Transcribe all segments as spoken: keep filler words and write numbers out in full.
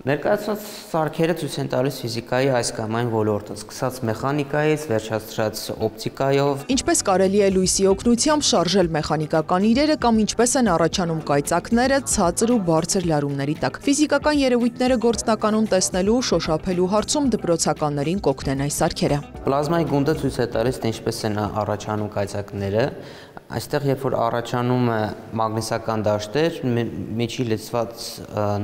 Ներկայացված սարքերը ցույց են տալիս ֆիզիկայի այս կամ այն ոլորտը, սկսած մեխանիկայից, վերջացրած օպտիկայով։ Ինչպես կարելի է լույսի օգնությամբ շարժել մեխանիկական իրերը կամ ինչպես են առաջանում կայծակները ցածր ու բարձր լարումների տակ։ Ֆիզիկական երևույթները գործնականում տեսնելու ու շոշափելու հարցում դպրոցականներին կօգնեն այս սարքերը։ Պլազմայի գունդը ցույց է տալիս, թե ինչպես են առաջանում կայծակները։ Այստեղ, երբ որ առաջանում է մագնիսական դաշտեր, միջի լցված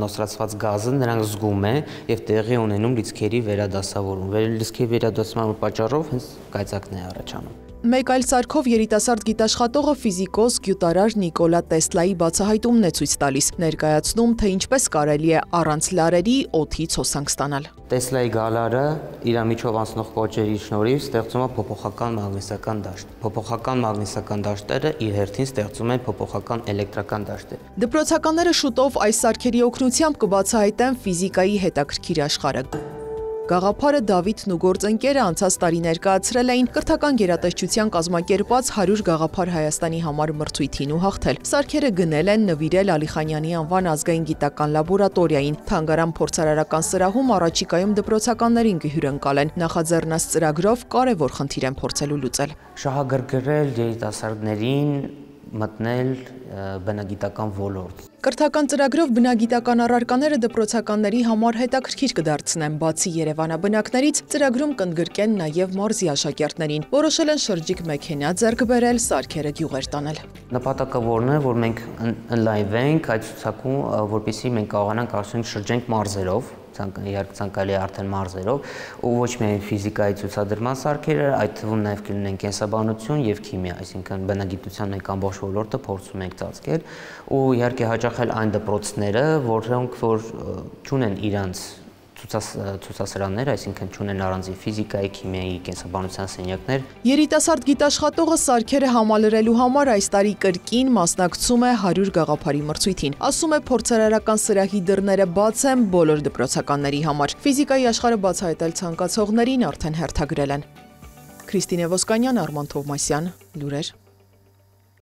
նոսրացված գազը նրանք զգում է եւ տեղի ունենում լիցքերի վերադասավորում։ Լիցքերի վերադասման պատճառով հենց կայծակն է առաջանում։ Մեկ այլ սարքով երիտասարդ գիտաշխատողը ֆիզիկոս գյուտարար Նիկոլա Տեսլայի բացահայտումն է ցույց տալիս, ներկայացնում, թե ինչպես կարելի է առանց լարերի օդից հոսանք ստանալ։ Տեսլայի գալարը իր միջով անցնող կոճերի շնորհիվ ստեղծում է փոփոխական մագնիսական դաշտ։ Փոփոխական մագնիսական դաշտերը իր հերթին ստեղծում են փոփոխական էլեկտրական դաշտեր։ Դպրոցականները շուտով այս սարքերի օգնությամբ կբացահայտեն ֆիզիկայի հետաքրքիր աշխարհը։ Գաղափարը Դավիթն ու գործընկերը անցած տարի ներկայացրել էին կրթական գերատեսչության կազմակերպած հարյուր գաղափար Հայաստանի համար մրցույթին ու հաղթել։ Սարքերը գնել են նվիրել Ալիխանյանի անվան ազգային գիտական լաբորատորիային։ Թանգարան փորձարարական սրահում առաջիկայում դպրոցականներին կհյուրընկալեն։ Նախաձեռնած ծրագրով կարևոր խնդիր են փորձելու լուծել։ Շահագրգռել երիտասարդներին մտնել բնագիտական ոլորտ։ Կրթական ծրագրով բնագիտական առարկաները դպրոցականների համար հետաքրքիր կդարձնեն, բացի երևանաբնակներից ծրագրում կընդգրկեն նաև մարզի աշակերտներին։ Որոշել են շրջիկ մեքենա ձեռք բերել, սարքերը գյուղեր տանել։ Նպատակը որն է, որ մենք ընլայնվենք այդ ցուցակում, որպեսզի մենք կարողանանք արդյունք շրջենք մարզերով, իհարկե ցանկալի է արդեն մարզերով, ու ոչ միայն ֆիզիկայի ցուցադրման սարքերը, այդ թվում նաև կլինեն կենսաբանություն եւ քիմիա, այսինքն բնագիտության մենք ամբողջ ոլորտը փորձում ենք ծածկել, ու իհարկե հաճախել այն դպրոցները, որոնք որ չունեն իրանց ցուցասրահներ, այսինքն չունեն առանձին ֆիզիկայի, քիմիայի, կենսաբանության սենյակներ։ Երիտասարդ գիտաշխատողը սարքերը համալրելու համար այս տարի կրկին մասնակցում է հարյուր գաղափարի մրցույթին։ Ասում է, փորձարարական սրահի դռները բաց են բոլոր դպրոցականների համար։ Ֆիզիկայի աշխարհը բացահայտել ցանկացողներին արդեն հերթագրել են։ Քրիստինե Ոսկանյան, Արման Թովմասյան, լուրեր։